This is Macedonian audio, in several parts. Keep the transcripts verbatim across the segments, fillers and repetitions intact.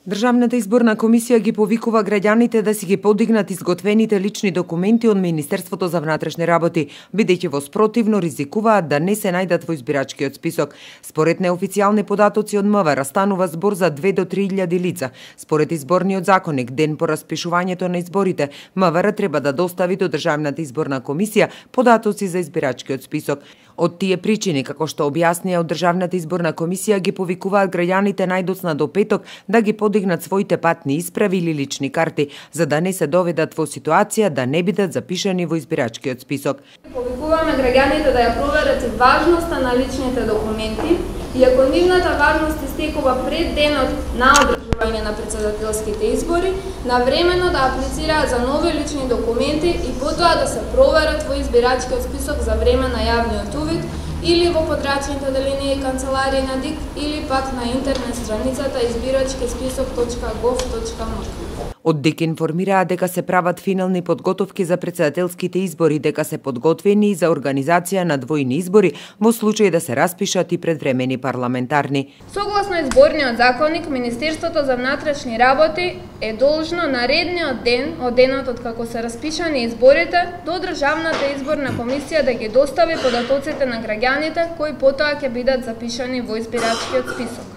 Државната изборна комисија ги повикува граѓаните да си ги подигнат изготвените лични документи од Министерството за внатрешни работи, бидејќи во спротивно ризикуваат да не се најдат во избирачкиот список. Според неофицијални податоци од МВР станува збор за две до три илјади лица. Според изборниот законник, ден по распишувањето на изборите, МВР треба да достави до Државната изборна комисија податоци за избирачкиот список. Од тие причини, како што објаснија од Државната изборна комисија, ги повикуваат граѓаните најдоцна до петок да ги подигнат своите патни исправи или лични карти, за да не се доведат во ситуација да не бидат запишани во избирачкиот список. Повикуваме граѓаните да ја проверат и важноста на личните документи, и ако нивната важност истекува пред денот на одржување на претседателските избори, навремено да аплицираат за нови лични документи и потоа да се проверат во избирачкиот список за време на јавниот увид или во подрачните оделенија и канцеларии на ДИК или пак на интернет страницата избирачки список точка гов точка ем. Од ДИК информираа дека се прават финални подготовки за претседателските избори, дека се подготвени и за организација на двојни избори во случај да се распишат и предвремени парламентарни. Согласно изборниот законник, Министерството за внатрешни работи е должно наредниот ден од денот од како се распишани изборите до Државната изборна комисија да ги достави податоците на граѓаните кои потоа ќе бидат запишани во избирачкиот список.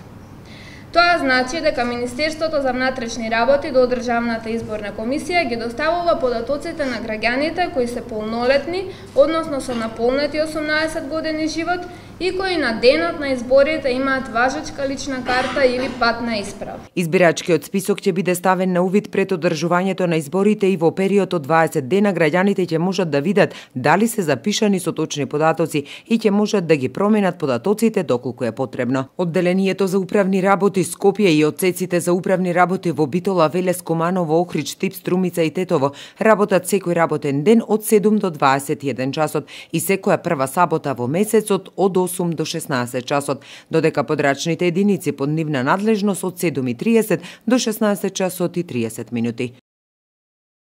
Тоа значи дека Министерството за внатрешни работи до Државната изборна комисија ги доставува податоците на граѓаните кои се полнолетни, односно со наполнети осумнаесет години живот и кои на денот на изборите имаат важечка лична карта или патна исправа. Избирачкиот список ќе биде ставен на увид пред одржувањето на изборите и во период од дваесет дена граѓаните ќе можат да видат дали се запишани со точни податоци и ќе можат да ги променат податоците доколку е потребно. Одделението за управни работи Скопје и одсеците за управни работи во Битола, Велес, Куманово, Охрид, Штип, Струмица и Тетово работат секој работен ден од седум до дваесет и еден часот и секоја прва сабота во месецот од осум до шеснаесет часот, додека подрачните единици под нивна надлежност од седум и триесет до шеснаесет часот и триесет минути.